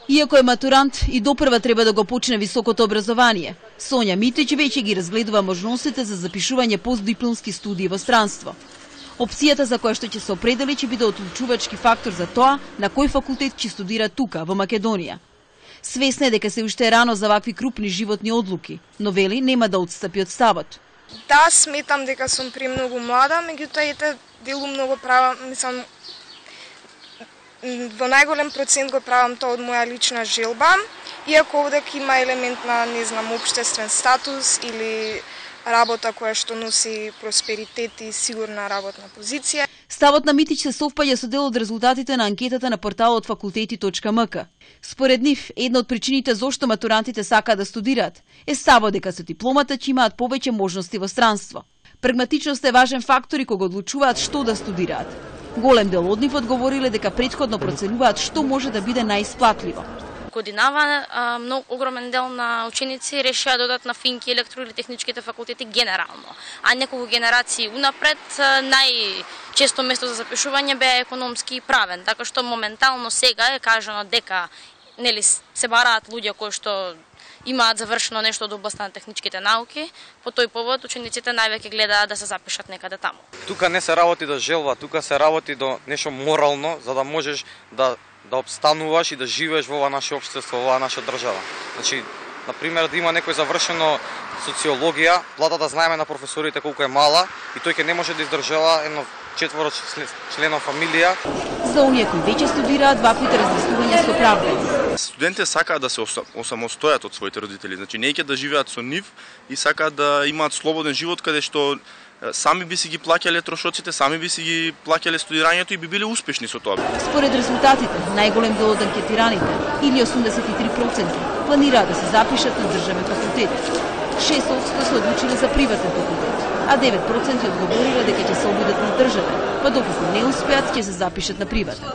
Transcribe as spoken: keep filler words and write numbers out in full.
Иако е матурант, и допрва треба да го почне високото образование. Сонја Митрич веќе ги разгледува можностите за запишување постдипломски студии во странство. Опцијата за која што ќе се определи ќе биде одлучувачки фактор за тоа на кој факултет ќе студира тука, во Македонија. Свесна е дека се уште е рано за вакви крупни животни одлуки, но вели нема да отстапи од ставот. Да, сметам дека сум премногу млада, меѓутоа ете делум многу права, мислам, во најголем процент го правам тоа од моја лична желба, иако овдека има елемент на, не знам, општествен статус или работа која што носи просперитет и сигурна работна позиција. Ставот на Митич се совпаѓа со дел од резултатите на анкетата на порталот факултети точка ем ка. Според нив, една од причините зошто матурантите сакаат да студираат е ставот дека со дипломата ќе имаат повеќе можности во странство. Прагматичноста е важен фактор и кога одлучуваат што да студираат. Голем дел од нив одговориле дека претходно проценуваат што може да биде најисплатливо. Годинава многу огромен дел на ученици решија да одат на финки, електро или техничките факултети генерално, а неколку генерации унапред најчесто место за запишување беа економски и правен, така што моментално сега е кажано дека нели се бараат луѓе кои што имаат завршено нешто од областта на техничките науки, по тој повод учениците највеќе гледаат да се запишат некаде таму. Тука не се работи до желба, тука се работи до нешто морално, за да можеш да да обстануваш и да живееш во ова наше општество, во оваа наша држава. Значи, на пример, да има некој завршено социологија, платата знаеме на професорите колку е мала и тој ќе не може да издржава едно четворо члена фамилија. За оние кои веќе студираат, ваквите размислувања се оправдани. Студентите сакаат да се осамостојат од своите родители, значи не ќе да живеат со нив и сакаат да имаат слободен живот каде што сами би си ги плаќале трошоците, сами би си ги плаќале студирањето и би биле успешни со тоа. Според резултатите, најголем дел од анкетираните, или осумдесет и три проценти, планираат да се запишат на државен факултет. шест проценти се одлучиле за приватен факултет, а девет проценти одговориле дека ќе се обидат на државен, па доколку не успеат, ќе се запишат на приватен.